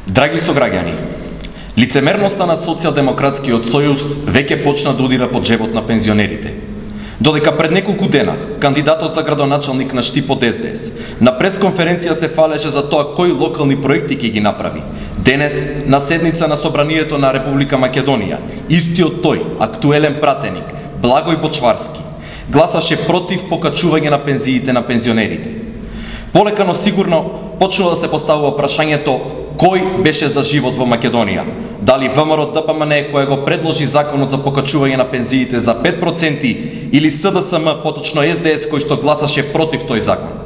Драги сограѓани, лицемерноста на Социјалдемократскиот сојуз веќе почна да удира по джебот на пензионерите. Додека пред неколку дена кандидатот за градоначалник на Штип од СДС на пресконференција се фалеше за тоа кои локални проекти ќе ги направи, денес на седница на Собранието на Република Македонија, истиот тој актуелен пратеник Благој Бочварски гласаше против покачување на пензиите на пензионерите. Полека но сигурно почнува да се поставува прашањето кој беше за живот во Македонија? Дали ВМРО ДПМН кој го предложи законот за покачување на пензиите за 5% или СДСМ, поточно СДС кој што гласаше против тој закон?